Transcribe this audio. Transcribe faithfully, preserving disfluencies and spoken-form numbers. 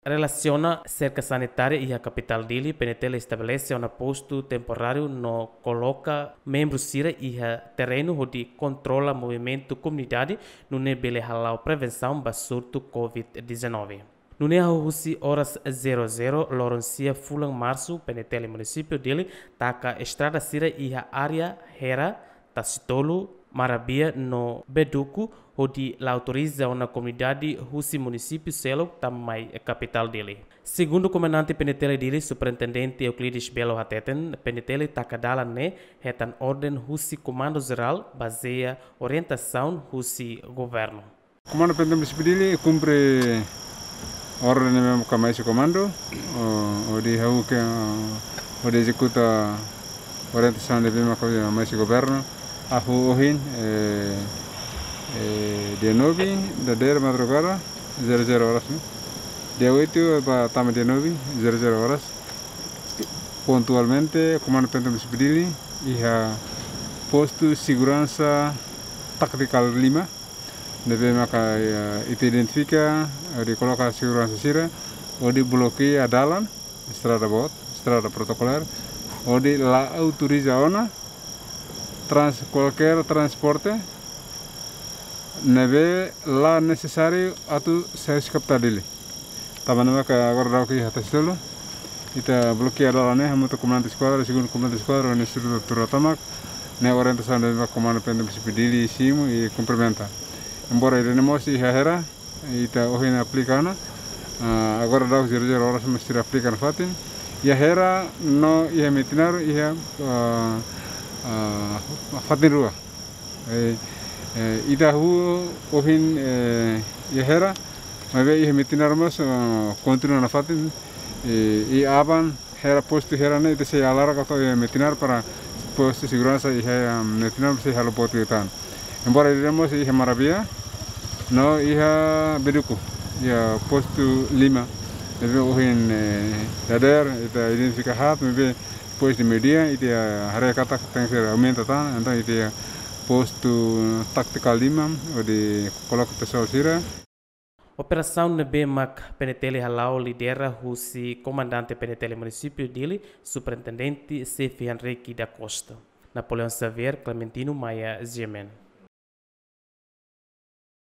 Relasiona serka sanitária iha kapitál Dili, PNTL estabelese ona postu temporáriu no koloka membru sira iha terrenu hodi kontrola movimentu komunidade, nune'e bele hala'o prevensaun ba surtu covid dezanove. Nune'e hahú husi oras zero zero loron sia fulan Marsu, PNTL Munisípiu Dili taka estrada sira iha área Hera, Tasitolu, Marabia no Beduku, hodi la autoriza ona komunidade husi munisípiu seluk tama mai kapitál Dili. Segundu Komandante PNTL Dili, Superintendente Euclides Belo hateten, PNTL taka dalan ne'e hetan orden husi Komandu Jerál, bazeia orientasaun husi governu. Komandu PNTL Munisípiu Dili kumpre orden ne'ebé maka mai husi komandu, o, hodi hahú ke, o, hodi ezekuta orientasaun ne'ebé maka mai husi governu. Hahú ohin, eh, eh, dia nove, dadeer madrugada, zero zero horas, ne'e. Dia oito ba tama dia nove, zero zero horas. Pontualmente, Komandu PNTL Munisípiu Dili iha postu seguransa tátikal lima, ne'ebé maka, eh, ita identifika, hodi koloka seguransa sira, hodi blokeia dalan, estrada boot, estrada protokolár, hodi la autoriza ona trans-, kualkér transporte ne'ebé la nesesáriu atu sai husi kapitál Dili. Tanba ne'e maka agora daudauk iha Tasitolu, ita blokeia dalan ne'e hamutuk ho komandante eskuadra, segundu komandante eskuadra, no estrutura tomak, ne'e orientasaun ne'ebé maka Komandu PNTL Munisípiu Dili simu i kumprimenta. Embora ida-ne'e mós iha Hera, ita ohin aplika ona, ah, agora daudauk zero zero horas mós sira aplika nafatin. Iha Hera no iha Metinaro iha, ah, ah, fatin rua. Eh, eh, ita hahú ohin, eh, iha Hera, maibé iha Metinaro mós, ah, kontinua nafatin, eh, i aban Hera, postu Hera ne'e ita sei halo rak atu iha Metinaro para postu seguransa iha, ah, Metinaro sei halo boot liután. Embora ida-ne'e mós iha Marabia, no iha Beduku, iha postu lima. Ne'ebé ohin, eh, dadeer, ita identifika haat, maibé depois de meio-dia, ita haree katak tenke aumenta tan, entaun ita iha postu tátikal lima, hodi koloka pesoál sira. Operasaun ne'ebé mak PNTL hala'o lidera husi Komandante PNTL Munisípiu Dili, Superintendente Xefe Henrique da Costa. Napoleão Xavier, Clementino Maia, G M N.